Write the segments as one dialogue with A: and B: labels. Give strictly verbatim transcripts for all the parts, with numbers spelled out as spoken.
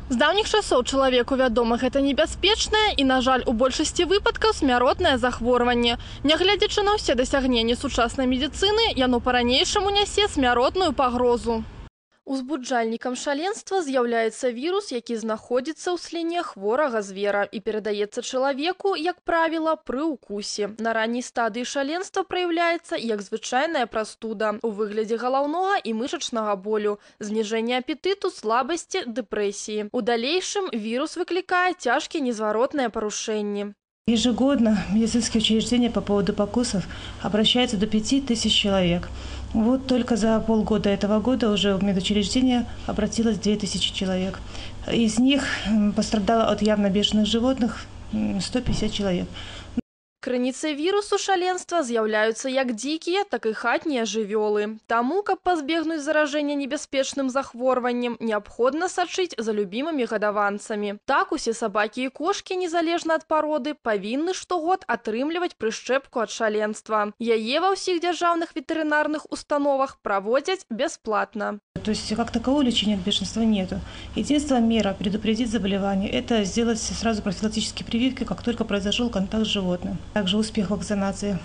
A: З даўніх часоў чалавеку вядома, гэта небяспечнае і, на жаль, у большасці выпадкаў смяротнае захворванне. Нягледзячы на ўсе дасягненні сучаснай медыцыны, яно па-ранейшаму нясе смяротную пагрозу. Узбуджальнікам шаленства з'яўляецца вірус, які знаходзіцца ў сліне хворага звера і перадаецца чалавеку, як правіла, пры укусе. На ранняй стадыі шаленства праяўляецца як звычайная прастуда у выглядзе галаўнога і мышачнага болю, зніжэння апетыту, слабасці, дэпрэсіі. У далейшым вірус выклікае цяжкія незваротныя парушэнні.
B: Ежегодно медицинские учреждения по поводу покусов обращаются до пяти тысяч человек. Вот только за полгода этого года уже в медучреждение обратилось две тысячи человек. Из них пострадало от явно бешеных животных сто пятьдесят человек.
A: Крыніцай вірусу шаленства з'яўляюцца як дзікія, так і хатнія жывёлы. Таму, каб пазбегнуць заражэння небяспечным захворваннем, неабходна сачыць за любімымі гадаванцамі. Так, усе сабакі і кошкі, незалежна ад пароды, павінны штогод атрымліваць прышчэпку ад шаленства. Яе ва ўсіх дзяржаўных ветэрынарных установах праводзяць бясплатна.
B: То есть как такового лечения от бешенства нету. Единственная мера предупредить заболевание – это сделать сразу профилактические прививки, как только произошел контакт с животным. Также успех вакцинации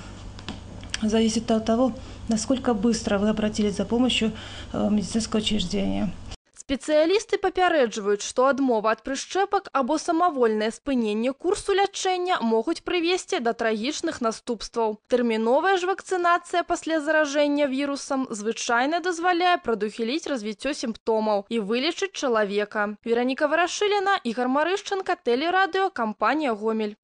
B: зависит от того, насколько быстро вы обратились за помощью в медицинское учреждение.
A: Спецыялісты папярэджваюць, што адмова ад прышчэпак або самавольнае спыненне курсу лячэння могуць прывесці да трагічных наступстваў. Тэрміновая ж вакцынацыя пасля заражэння вірусам звычайна дазваляе прадухіліць развіццё сімптомаў і вылечыць чалавека. Вераніка Варашыліна, Ігор Марышчанка, тэлерадыё, кампанія «Гомель».